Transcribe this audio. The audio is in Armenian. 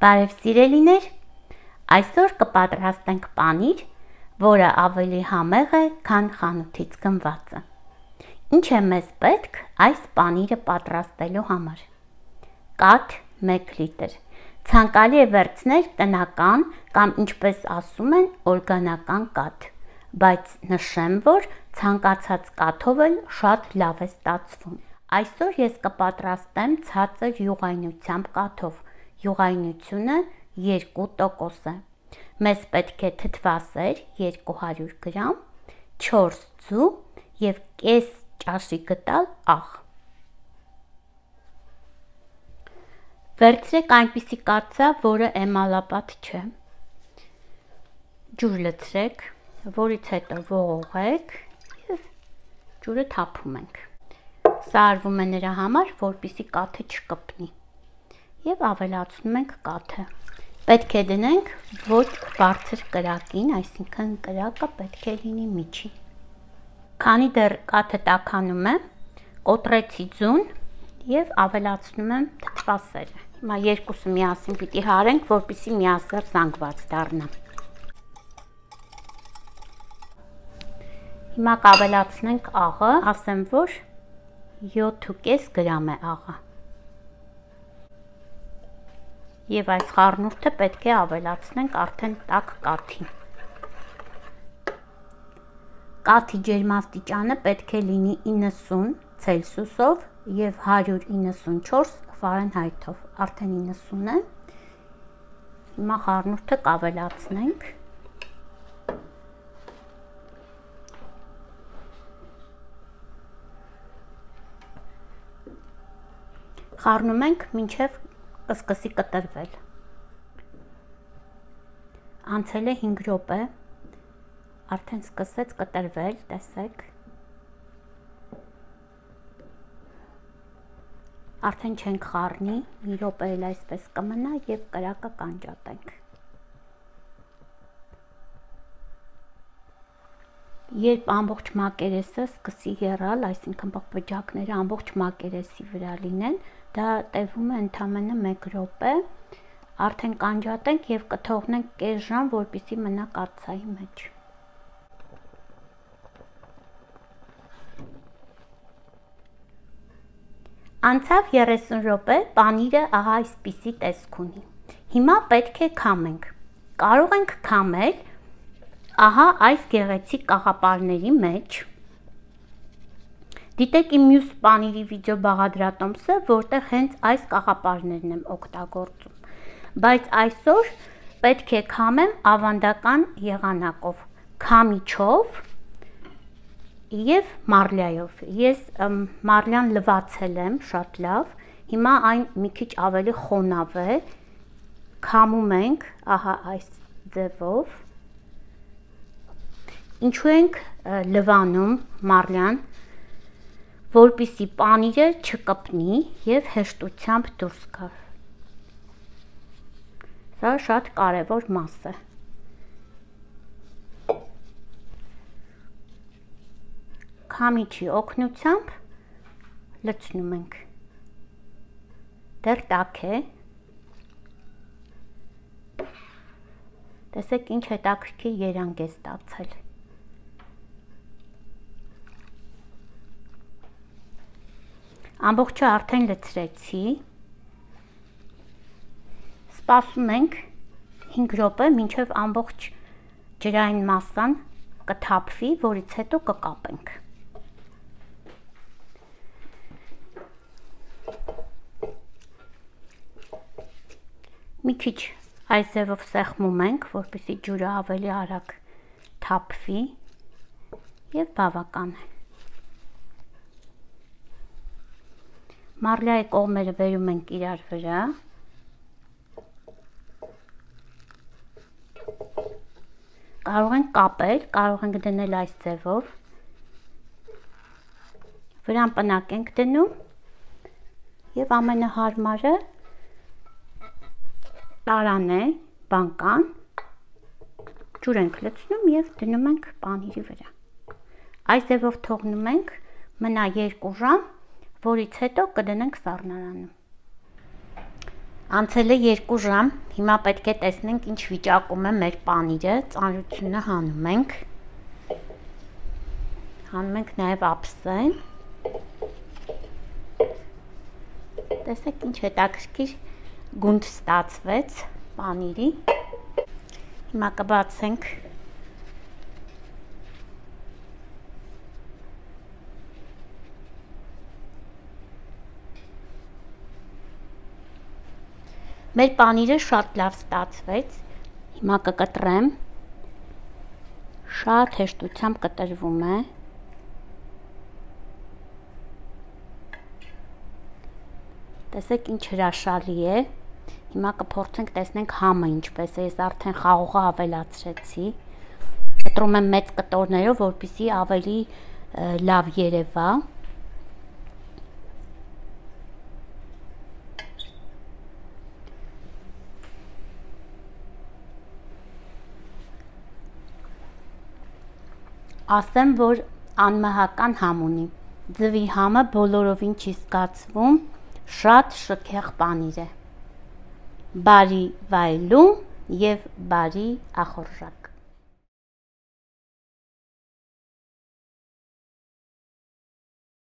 Բարև սիրելիներ, այսօր կպատրաստենք պանիր, որը ավելի համեղ է, քան խանութից գնվածը։ Ինչ է մեզ պետք այս պանիրը պատրաստելու համար։ Կաթ 1 լիտր, ցանկալի է վերցնել տնական կամ ինչպես ասում են օրգանական կաթ, բայց նշեմ, որ ցանկացած կաթով էլ շատ լավ է ստացվում։ Այսօր ես կպատրաստեմ ցածր յուղայնությամբ կաթով, յուղայնությունը 2% է։ Մեզ պետք է թթվասեր 200 գրամ, 4 ձու և կես ճաշի գտալ աղ։ Վերցրեք այնպիսի կաթսա, որը էմալապատ չէ։ Ջուր լցրեք, որից հետո ողողեք և ջուրը թափում ենք։ Սա արվում է նրա համար, որպեսզի կաթը չկպնի։ Եվ ավելացնում ենք կաթը։ Պետք է դնենք ոչ բարձր կրակին, այսինքն կրակը պետք է լինի միջին։ Քանի դեռ կաթը տաքանում է, կոտրեցի ձուն և ավելացնում եմ թթվասերը։ Հիմա երկուսը միասին պիտի հարենք, որպեսզի միասեռ զանգված դառնա։ Հիմա կավելացնենք աղը, ասեմ, որ 7,5 գրամ է աղը։ Եվ այս խառնուրդը պետք է ավելացնենք արդեն տաք կաթին։ Կաթի ջերմաստիճանը պետք է լինի 90 ցելսիուսով և 194 ֆարենհայթով, արդեն 90 է։ Հիմա խառնուրդը կավելացնենք։ Խառնում ենք մինչև սկսի կտրվել։ Անցել է 5 րոպե, արդեն սկսեց կտրվել, տեսեք։ Արդեն չենք խառնի, մի րոպե էլ այսպես կմնա և կրակը կանջատենք։ Երբ ամբողջ մակերեսը սկսի եռալ, այսինքն պղպջակները ամբողջ մակերեսի վրա լինեն, դա տևում է ընդամենը 1 րոպե, արդեն կանջատենք և կթողնենք կես ժամ, որպեսզի մնա կաթսայի մեջ։ Անցավ 30 րոպե, պանիրը ահա այսպիսի տեսք ունի։ Հիմա պետք է քամենք։ Կարող ենք քամել ահա այս գեղեցիկ կաղապարների մեջ։ Դիտեք իմ մյուս պանիրի վիդեո բաղադրատոմսը, որտեղ հենց այս կաղապարներն եմ օգտագործում, բայց այսօր պետք է քամեմ ավանդական եղանակով, քամիչով և մարլյայով։ Ես մարլյան լվացել եմ շատ լավ, հիմա այն մի քիչ ավելի խոնավ է, քամում ենք ահա այս ձևով։ Ինչու ենք լվանում մարլյան, որպեսզի պանիրը չկպնի և հեշտությամբ դուրս գա։ Սա շատ կարևոր մաս է։ Քամիչի օգնությամբ լցնում ենք։ Դեռ տաք է։ Տեսեք ինչ հետաքրքիր երանգ է ստացել։ Ամբողջը արդեն լցրեցի, սպասում ենք 5 րոպե, մինչև ամբողջ ջրային մասսան կթափվի, որից հետո կկապենք։ Մի քիչ այս ձևով սեղմում ենք, որպեսզի ջուրը ավելի արագ թափվի և բավական է։ Մարլյայի կողմերը բերում ենք իրար վրա։ Կարող ենք կապել, կարող ենք դնել այս ձևով։ Վրան պնակ ենք դնում և ամենահարմարը տարան է, բանկան, ջուր ենք լցնում և դնում ենք պանիրի վրա։ Այս ձևով թողնում ենք մնա 2 ժամ, որից հետո կդնենք սառնարանում։ Անցել է 2 ժամ, հիմա պետք է տեսնենք ինչ վիճակում է մեր պանիրը, ծանրությունը հանում ենք նաև ափսեն, տեսեք ինչ հետաքրքիր գունդ ստացվեց պանիրի, հիմա կբացենք Մեր պանիրը շատ լավ ստացվեց, հիմա կկտրեմ, շատ հեշտությամբ կտրվում է, տեսեք ինչ հրաշալի է, հիմա կփորձենք տեսնենք համը ինչպես է, ես արդեն խաղողը ավելացրեցի, կտրում եմ մեծ կտորներով, որպեսզի ավելի լավ երևա, ասեմ, որ անմահական համ ունի, ձվի համը բոլորովին չի զգացվում, շատ շքեղ պանիր է, բարի վայելում և բարի ախորժակ։